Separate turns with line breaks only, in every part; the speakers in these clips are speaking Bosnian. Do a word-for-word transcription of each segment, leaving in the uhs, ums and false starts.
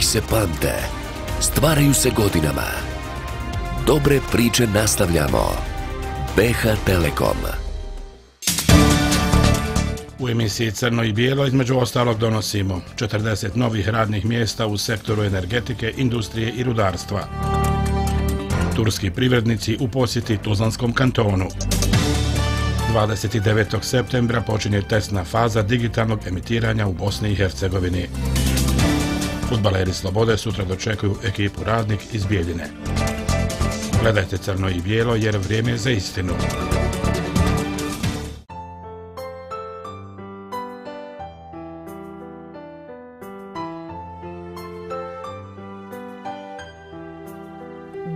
se pamte, stvaraju se godinama. Dobre priče nastavljamo. B H Telekom.
U emisiji Crno i bijelo između ostalog donosimo četrdeset novih radnih mjesta u sektoru energetike, industrije i rudarstva. Turski privrednici u posjeti Tuzlanskom kantonu. dvadeset devetog septembra počinje testna faza digitalnog emitiranja u Bosni i Hercegovini. Fudbaleri Slobode sutra dočekuju ekipu Radnik iz Bijeljine. Gledajte Crno i bijelo jer vrijeme je za istinu.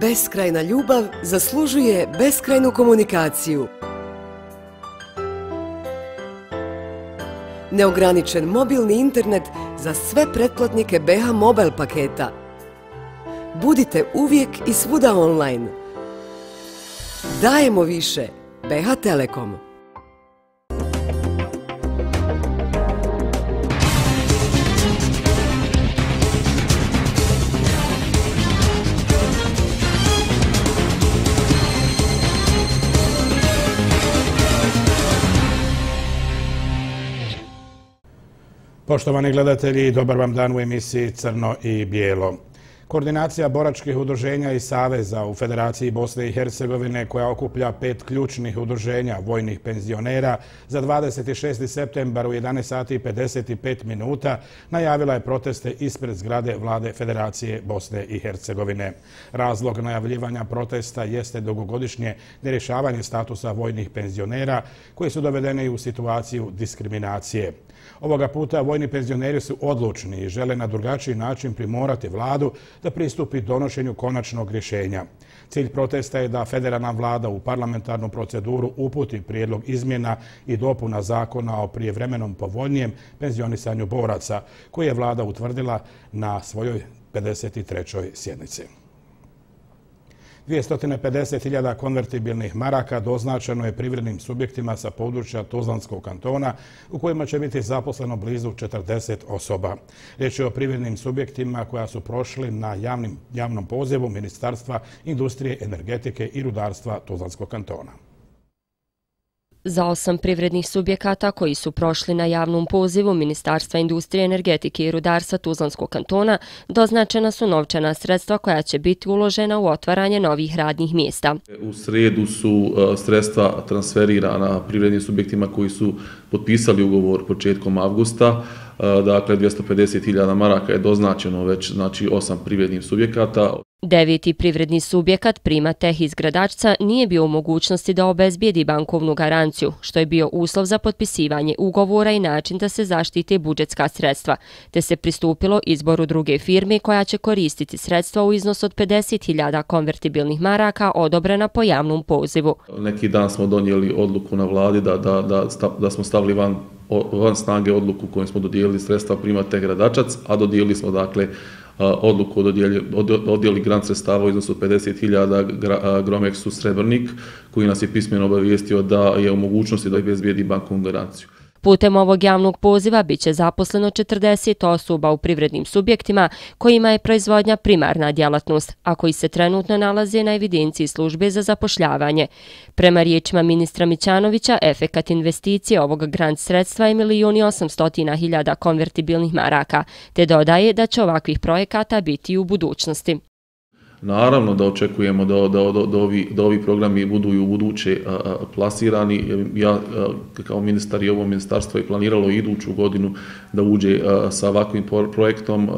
Beskrajna ljubav zaslužuje beskrajnu komunikaciju. Neograničen mobilni internet za sve pretplatnike B H Mobile paketa. Budite uvijek i svuda online. Dajemo više. B H Telekom.
Poštovani gledatelji, dobar vam dan u emisiji Crno i bijelo. Koordinacija boračkih udruženja i saveza u Federaciji Bosne i Hercegovine, koja okuplja pet ključnih udruženja vojnih penzionera, za dvadeset šesti septembar u jedanaest sati i pedeset pet minuta najavila je proteste ispred zgrade Vlade Federacije Bosne i Hercegovine. Razlog najavljivanja protesta jeste dugogodišnje nerješavanje statusa vojnih penzionera koji su dovedeni u situaciju diskriminacije. Ovoga puta vojni penzioneri su odlučni i žele na drugačiji način primorati vladu da pristupi donošenju konačnog rješenja. Cilj protesta je da federalna vlada u parlamentarnu proceduru uputi prijedlog izmjena i dopuna zakona o prijevremenom povoljnijem penzionisanju boraca, koji je vlada utvrdila na svojoj pedeset trećoj sjednici. dvjesto pedeset hiljada konvertibilnih maraka doznačeno je privrednim subjektima sa područja Tuzlanskog kantona u kojima će biti zaposleno blizu četrdeset osoba. Riječ je o privrednim subjektima koja su prošli na javnim, javnom pozivu Ministarstva industrije, energetike i rudarstva Tuzlanskog kantona.
Za osam privrednih subjekata koji su prošli na javnom pozivu Ministarstva industrije, energetike i rudarstva Tuzlanskog kantona doznačena su novčana sredstva koja će biti uložena u otvaranje novih radnih mjesta.
U sredu su sredstva transferirana privrednim subjektima koji su potpisali ugovor početkom avgusta. Dakle, dvjesto pedeset hiljada maraka je doznačeno već, znači osam privrednih subjekata.
Deveti privredni subjekat Primateh iz Gradačca nije bio u mogućnosti da obezbijedi bankovnu garanciju, što je bio uslov za potpisivanje ugovora i način da se zaštite budžetska sredstva, te se pristupilo izboru druge firme koja će koristiti sredstva u iznosu od pedeset hiljada konvertibilnih maraka odobrena po javnom pozivu.
Neki dan smo donijeli odluku na vladi da, da, da, da smo stavili van van snage odluku kojom smo dodijelili sredstva Primateh Gradačac, a dodijelili smo dakle odluku o dodijeli grant sredstava u iznosu od pedeset hiljada Gromexu Srebrnik, koji nas je pismeno obavijestio da je u mogućnosti da obezbijedi bankovnu garanciju.
Putem ovog javnog poziva biće zaposleno četrdeset osoba u privrednim subjektima kojima je proizvodnja primarna djelatnost, a koji se trenutno nalaze na evidenciji službe za zapošljavanje. Prema riječima ministra Mićanovića, efekat investicije ovog grant sredstva je milijun i osamstotina hiljada konvertibilnih maraka, te dodaje da će ovakvih projekata biti i u budućnosti.
Naravno da očekujemo da, da, da, da, ovi, da ovi programi budu i u buduće a, a, plasirani. Ja a, kao ministar i ovo ministarstvo je planiralo iduću godinu da uđe a, sa ovakvim projektom. A,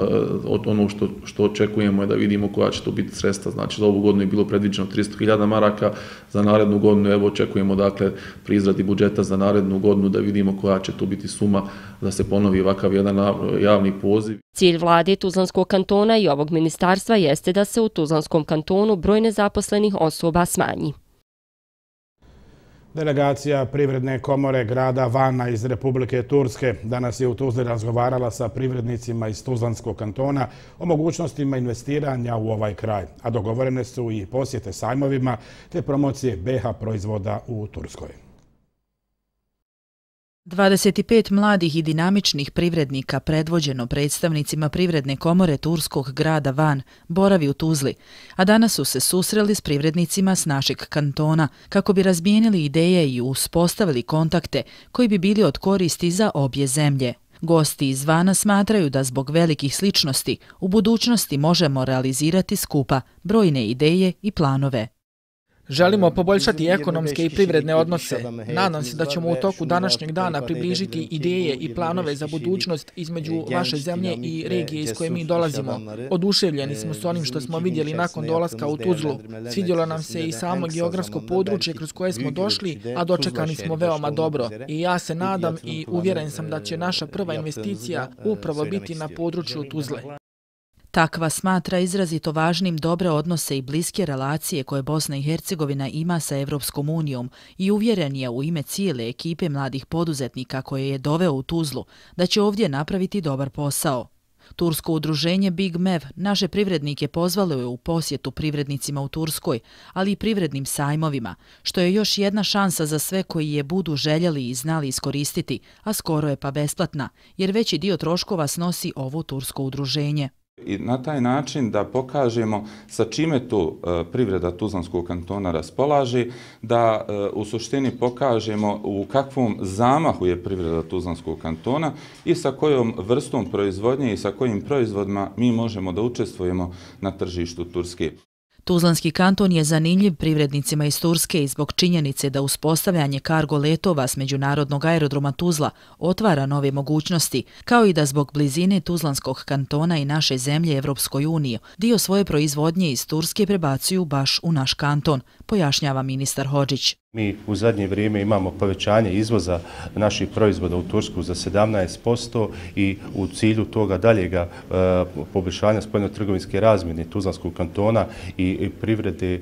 ono što, što očekujemo je da vidimo koja će to biti sredstva. Znači za ovu godinu je bilo predviđeno tristo hiljada maraka, za narednu godinu evo očekujemo dakle pri izradi budžeta za narednu godinu da vidimo koja će to biti suma da se ponovi ovakav jedan javni poziv.
Cilj vlade Tuzlanskog kantona i ovog ministarstva jeste da se u Tuzlanskom kantonu broj nezaposlenih osoba smanji.
Delegacija Privredne komore grada Vana iz Republike Turske danas je u Tuzli razgovarala sa privrednicima iz Tuzlanskog kantona o mogućnostima investiranja u ovaj kraj, a dogovorene su i posjete sajmovima te promocije B H proizvoda u Turskoj.
dvadeset pet mladih i dinamičnih privrednika predvođeno predstavnicima Privredne komore turskog grada Van boravi u Tuzli, a danas su se susreli s privrednicima s našeg kantona kako bi razmijenili ideje i uspostavili kontakte koji bi bili od koristi za obje zemlje. Gosti iz Vana smatraju da zbog velikih sličnosti u budućnosti možemo realizirati skupa brojne ideje i planove.
Želimo poboljšati ekonomske i privredne odnose. Nadam se da ćemo u toku današnjeg dana približiti ideje i planove za budućnost između vaše zemlje i regije iz koje mi dolazimo. Oduševljeni smo s onim što smo vidjeli nakon dolaska u Tuzlu. Svidjelo nam se i samo geografsko područje kroz koje smo došli, a dočekani smo veoma dobro. I ja se nadam i uvjeren sam da će naša prva investicija upravo biti na području Tuzle.
Takva smatra izrazito važnim dobre odnose i bliske relacije koje Bosna i Hercegovina ima sa Evropskom unijom i uvjeren je u ime cijele ekipe mladih poduzetnika koje je doveo u Tuzlu da će ovdje napraviti dobar posao. Tursko udruženje Big Mev naše privrednike pozvalo je u posjetu privrednicima u Turskoj, ali i privrednim sajmovima, što je još jedna šansa za sve koji je budu željeli i znali iskoristiti, a skoro je pa besplatna, jer veći dio troškova snosi ovo tursko udruženje.
I na taj način da pokažemo sa čime tu privreda Tuzlanskog kantona raspolaže, da u suštini pokažemo u kakvom zamahu je privreda Tuzlanskog kantona i sa kojom vrstom proizvodnje i sa kojim proizvodima mi možemo da učestvujemo na tržištu Turske.
Tuzlanski kanton je zanimljiv privrednicima iz Turske i zbog činjenice da uspostavljanje kargo letova s međunarodnog aerodroma Tuzla otvara nove mogućnosti, kao i da zbog blizine Tuzlanskog kantona i naše zemlje Evropskoj uniji dio svoje proizvodnje iz Turske prebacuju baš u naš kanton, pojašnjava ministar Hodžić.
Mi u zadnje vrijeme imamo povećanje izvoza naših proizvoda u Tursku za sedamnaest posto i u cilju toga daljega e, poboljšanja spoljno-trgovinske razmjene Tuzlanskog kantona i, i privrede e,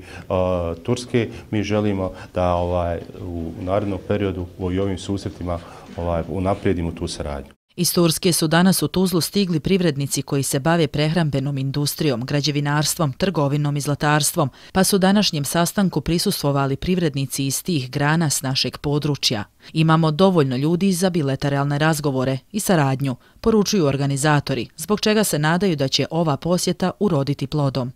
Turske mi želimo da ovaj, u narednom periodu u ovim susretima ovaj, unaprijedimo tu saradnju.
Iz Turske su danas u Tuzlu stigli privrednici koji se bave prehrambenom industrijom, građevinarstvom, trgovinom i zlatarstvom, pa su današnjem sastanku prisustvovali privrednici iz tih grana s našeg područja. Imamo dovoljno ljudi za bilateralne razgovore i saradnju, poručuju organizatori, zbog čega se nadaju da će ova posjeta uroditi plodom.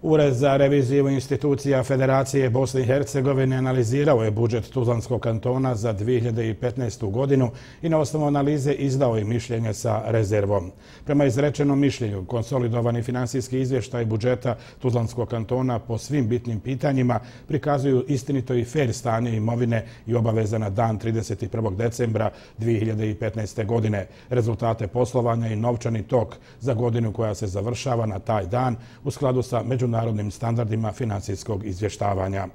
Ured za reviziju institucija Federacije Bosne i Hercegovine analizirao je budžet Tuzlanskog kantona za dvije hiljade petnaestu. godinu i na osnovu analize izdao je mišljenje sa rezervom. Prema izrečenom mišljenju, konsolidovani finansijski izvještaj budžeta Tuzlanskog kantona po svim bitnim pitanjima prikazuju istinito i fer stanje imovine i obaveza na dan trideset prvog decembra dvije hiljade petnaeste. godine, rezultate poslovanja i novčani tok za godinu koja se završava na taj dan u skladu sa međunarodnim narodnim standardima finansijskog izvještavanja.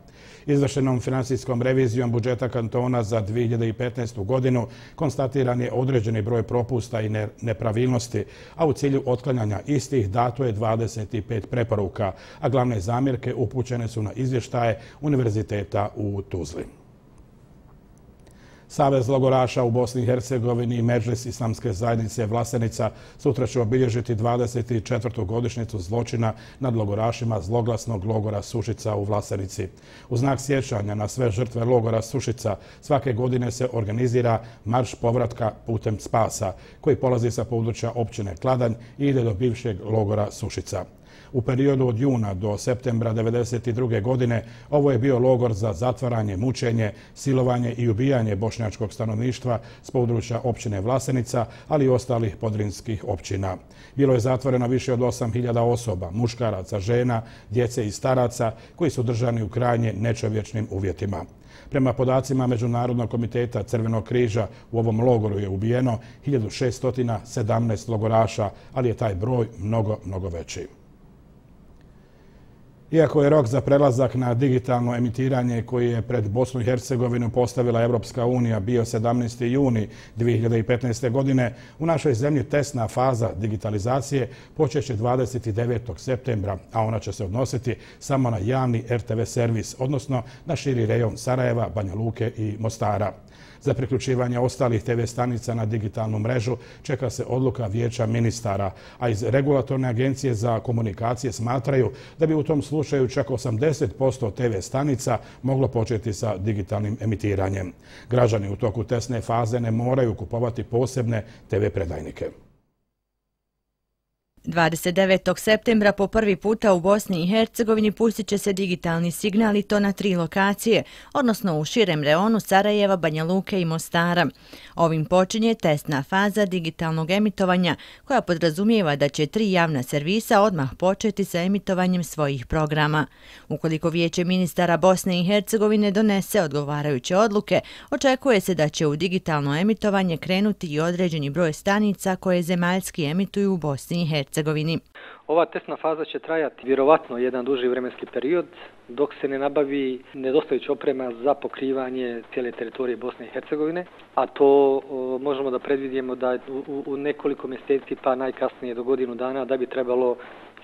Izvršenom finansijskom revizijom budžeta kantona za dvije hiljade petnaestu. godinu konstatiran je određeni broj propusta i nepravilnosti, a u cilju otklanjanja istih dato je dvadeset pet preporuka, a glavne zamjerke upućene su na izvještaje Univerziteta u Tuzli. Savez logoraša u Bosni i Hercegovini i Medžlis Islamske zajednice Vlasenica sutra će obilježiti dvadeset četvrtu godišnjicu zločina nad logorašima zloglasnog logora Sušica u Vlasenici. U znak sjećanja na sve žrtve logora Sušica svake godine se organizira marš povratka putem spasa, koji polazi sa područja općine Kladanj i ide do bivšeg logora Sušica. U periodu od juna do septembra devedeset druge. godine ovo je bio logor za zatvaranje, mučenje, silovanje i ubijanje bošnjačkog stanovništva s područja općine Vlasenica, ali i ostalih podrinskih općina. Bilo je zatvoreno više od osam hiljada osoba, muškaraca, žena, djece i staraca koji su držani u krajnje nečovječnim uvjetima. Prema podacima Međunarodnog komiteta Crvenog križa, u ovom logoru je ubijeno hiljadu šesto sedamnaest logoraša, ali je taj broj mnogo, mnogo veći. Iako je rok za prelazak na digitalno emitiranje koji je pred Bosnu i Hercegovinu postavila Evropska unija bio sedamnaesti juni dvije hiljade petnaeste. godine, u našoj zemlji testna faza digitalizacije počeće dvadeset devetog septembra, a ona će se odnositi samo na javni er te ve servis, odnosno na širi rejon Sarajeva, Banja Luke i Mostara. Za priključivanje ostalih te ve stanica na digitalnu mrežu čeka se odluka Vijeća ministara, a iz Regulatorne agencije za komunikacije smatraju da bi u tom slučaju čak osamdeset posto te ve stanica moglo početi sa digitalnim emitiranjem. Građani u toku testne faze ne moraju kupovati posebne te ve predajnike.
dvadeset devetog septembra po prvi puta u Bosni i Hercegovini pustit će se digitalni signal i to na tri lokacije, odnosno u širem reonu Sarajeva, Banja Luke i Mostara. Ovim počinje testna faza digitalnog emitovanja koja podrazumijeva da će tri javna servisa odmah početi sa emitovanjem svojih programa. Ukoliko Vijeće ministara Bosne i Hercegovine donese odgovarajuće odluke, očekuje se da će u digitalno emitovanje krenuti i određeni broj stanica koje zemaljski emituju u Bosni i Hercegovini.
Ova testna faza će trajati vjerovatno jedan duži vremenski period dok se ne nabavi nedostajuća oprema za pokrivanje cijele teritorije Bosne i Hercegovine, a to o, možemo da predvidimo da u, u nekoliko mjeseci pa najkasnije do godinu dana da bi trebalo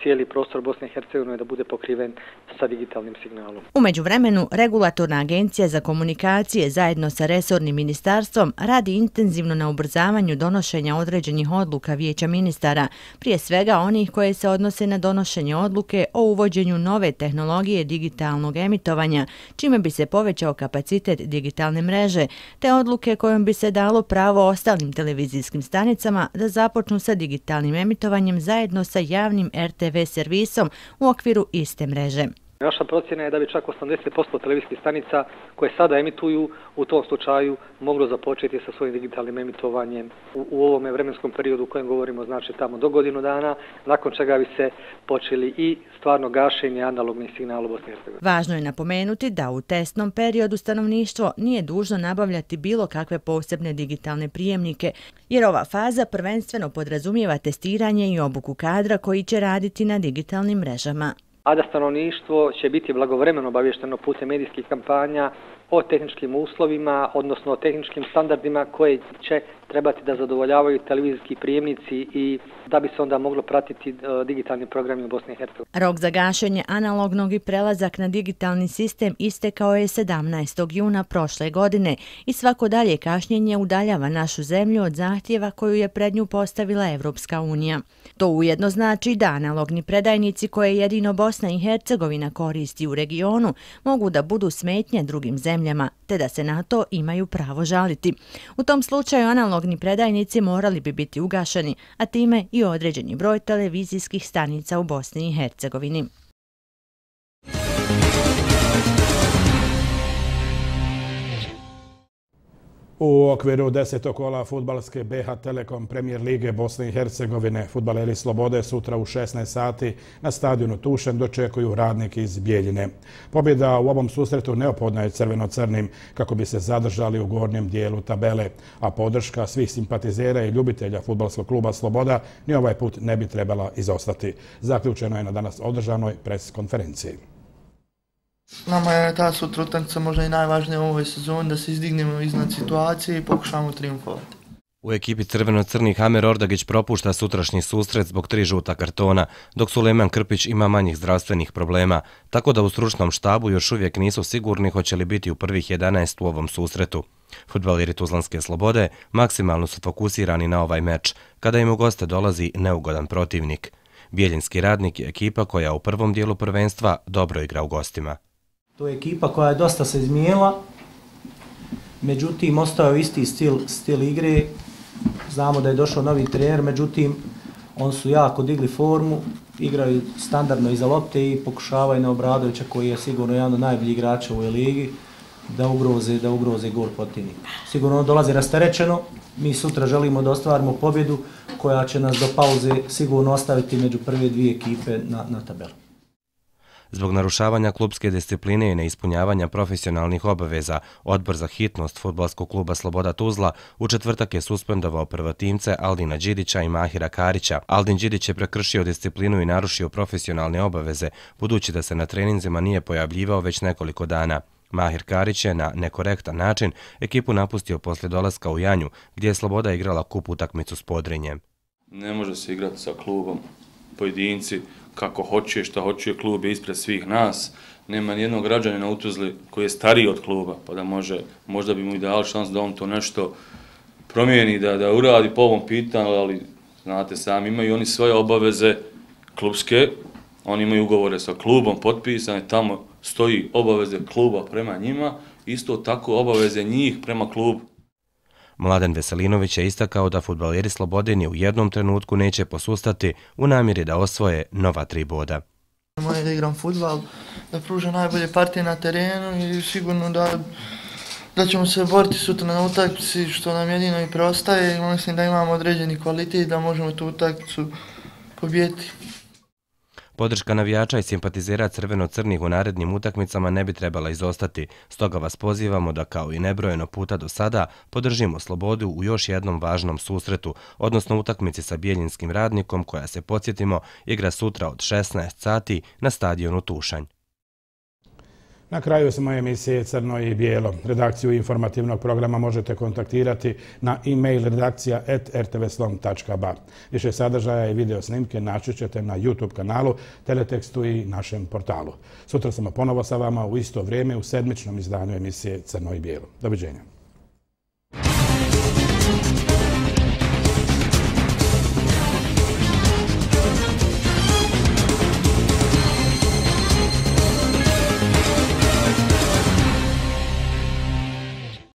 cijeli prostor Bosne i Hercegovine da bude pokriven sa digitalnim signalom.
U međuvremenu, Regulatorna agencija za komunikacije zajedno sa resornim ministarstvom radi intenzivno na ubrzavanju donošenja određenih odluka Vijeća ministara, prije svega onih koje se odnose na donošenje odluke o uvođenju nove tehnologije digitalnog emitovanja, čime bi se povećao kapacitet digitalne mreže, te odluke kojom bi se dalo pravo ostalim televizijskim stanicama da započnu sa digitalnim emitovanjem zajedno sa javnim er te ve servisom u okviru iste mreže.
Naša procjena je da bi čak osamdeset posto televizijskih stanica koje sada emituju u tom slučaju moglo započeti sa svojim digitalnim emitovanjem u, u ovome vremenskom periodu u kojem govorimo, znači tamo do godinu dana, nakon čega bi se počeli i stvarno gašenje analognih signala u Bosni i Hercegovini.
Važno je napomenuti da u testnom periodu stanovništvo nije dužno nabavljati bilo kakve posebne digitalne prijemnike, jer ova faza prvenstveno podrazumijeva testiranje i obuku kadra koji će raditi na digitalnim mrežama.
A da stanovništvo će biti blagovremeno obavješteno putem medijskih kampanja o tehničkim uslovima, odnosno o tehničkim standardima koje će trebati da zadovoljavaju televizijski prijemnici i da bi se onda moglo pratiti digitalni programi u Bosni i Hercegovini.
Rok za gašenje analognog i prelazak na digitalni sistem istekao je sedamnaestog juna prošle godine i svako dalje kašnjenje udaljava našu zemlju od zahtjeva koju je pred nju postavila Evropska unija. To ujedno znači da analogni predajnici koje jedino Bosna i Hercegovina koristi u regionu mogu da budu smetnje drugim zemljama, te da se na to imaju pravo žaliti. U tom slučaju analogni predajnici morali bi biti ugašeni, a time i određeni broj televizijskih stanica u Bosni i Hercegovini.
U okviru desetog kola fudbalske be ha Telekom Premier lige Bosne i Hercegovine fudbaleri Slobode sutra u šesnaest sati na stadionu Tušen dočekuju Radnik iz Bijeljine. Pobjeda u ovom susretu neophodna je crveno-crnim kako bi se zadržali u gornjem dijelu tabele, a podrška svih simpatizera i ljubitelja fudbalskog kluba Sloboda ni ovaj put ne bi trebala izostati. Zaključeno je na danas održanoj pres konferenciji.
Nama je ta sutra utakmica možda i najvažnija u ovoj sezoni da se izdignemo iznad situacije i pokušamo triumfovati.
U ekipi crveno-crnih Amer Ordagić propušta sutrašnji susret zbog tri žuta kartona, dok Sulejman Krpić ima manjih zdravstvenih problema, tako da u stručnom štabu još uvijek nisu sigurni hoće li biti u prvih jedanaest u ovom susretu. Fudbaleri Tuzlanske Slobode maksimalno su fokusirani na ovaj meč, kada im u goste dolazi neugodan protivnik. Bijeljinski Radnik je ekipa koja u prvom dijelu prvenstva dobro igra u gostima.
To je ekipa koja je dosta se izmijenila, međutim ostao isti stil, stil igre. Znamo da je došao novi trener, međutim oni su jako digli formu, igraju standardno iza lopte i pokušavaju na Obradovića koji je sigurno jedan od najboljih igrača u ligi da ugroze, da ugroze gol protivnika. Sigurno on dolazi rasterećeno, mi sutra želimo da ostvarimo pobjedu koja će nas do pauze sigurno ostaviti među prve dvije ekipe na, na tabelu.
Zbog narušavanja klubske discipline i neispunjavanja profesionalnih obaveza, Odbor za hitnost fudbalskog kluba Sloboda Tuzla u četvrtak je suspendovao prvotimce Aldina Đidića i Mahira Karića. Aldin Đidić je prekršio disciplinu i narušio profesionalne obaveze, budući da se na treninzima nije pojavljivao već nekoliko dana. Mahir Karić je na nekorektan način ekipu napustio poslije dolaska u Janju, gdje je Sloboda igrala kup utakmicu s Podrinjem.
Ne može se igrati sa klubom pojedinci kako hoće, šta hoće, klub je ispred svih nas. nema nijednog građanina u Tuzli koji je stariji od kluba, pa da može, možda bi mu i dali šans da on to nešto promijeni, da, da uradi po ovom pitanju, ali znate sami, imaju oni svoje obaveze klubske, oni imaju ugovore sa klubom potpisane, tamo stoji obaveze kluba prema njima, isto tako obaveze njih prema klubu.
Mladen Veselinović je istakao da fudbaleri Slobode ni u jednom trenutku neće posustati u namjeri da osvoje nova tri boda.
Moje da igram fudbal, da pružam najbolje partije na terenu i sigurno da, da ćemo se boriti sutra na utakmici, što nam jedino i preostaje. Mislim da imamo određeni kvalitet da možemo tu utakmicu pobijeti.
Podrška navijača i simpatizera crveno-crnih u narednim utakmicama ne bi trebala izostati, stoga vas pozivamo da kao i nebrojeno puta do sada podržimo Slobodu u još jednom važnom susretu, odnosno utakmici sa Bijeljinskim Radnikom koja se, podsjetimo, igra sutra od šesnaest sati na stadionu Tušanj.
Na kraju smo emisije Crno i Bijelo. Redakciju informativnog programa možete kontaktirati na e-mail redakcija at r t v slom tačka b a. Više sadržaja i video snimke naći ćete na YouTube kanalu, Teletekstu i našem portalu. Sutra smo ponovo sa vama u isto vrijeme u sedmičnom izdanju emisije Crno i Bijelo. Doviđenja.